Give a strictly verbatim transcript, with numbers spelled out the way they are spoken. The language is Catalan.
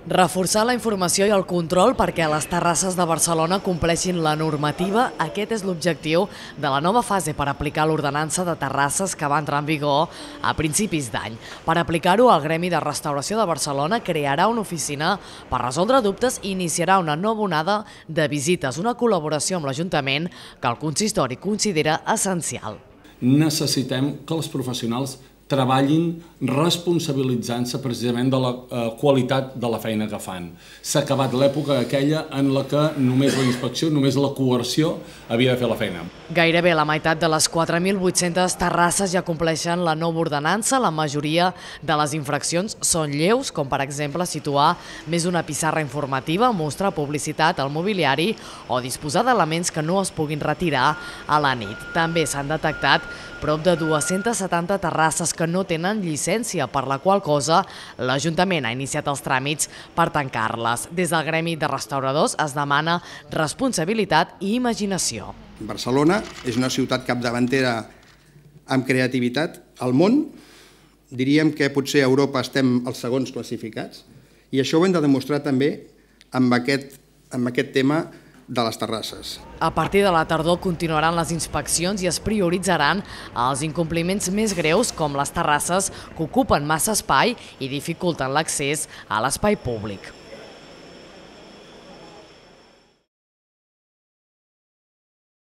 Reforçar la informació i el control perquè les terrasses de Barcelona compleixin la normativa, aquest és l'objectiu de la nova fase per aplicar l'ordenança de terrasses que va entrar en vigor a principis d'any. Per aplicar-ho, el Gremi de Restauració de Barcelona crearà una oficina per resoldre dubtes i iniciarà una nova onada de visites, una col·laboració amb l'Ajuntament que el consistori considera essencial. Necessitem que els professionals treballin responsabilitzant-se precisament de la eh, qualitat de la feina que fan. S'ha acabat l'època aquella en la que només la inspecció, només la coerció havia de fer la feina. Gairebé la meitat de les quatre mil vuit-centes terrasses ja compleixen la nova ordenança. La majoria de les infraccions són lleus, com per exemple situar més d'una pissarra informativa, mostrar publicitat al mobiliari o disposar d'elements que no es puguin retirar a la nit. També s'han detectat prop de dues-centes setanta terrasses que no tenen llicència, per la qual cosa l'Ajuntament ha iniciat els tràmits per tancar-les. Des del Gremi de Restauradors es demana responsabilitat i imaginació. Barcelona és una ciutat capdavantera amb creativitat al món. Diríem que potser a Europa estem els segons classificats i això ho hem de demostrar també amb aquest, amb aquest tema de les terrasses. A partir de la tardor continuaran les inspeccions i es prioritzaran els incompliments més greus, com les terrasses que ocupen massa espai i dificulten l'accés a l'espai públic.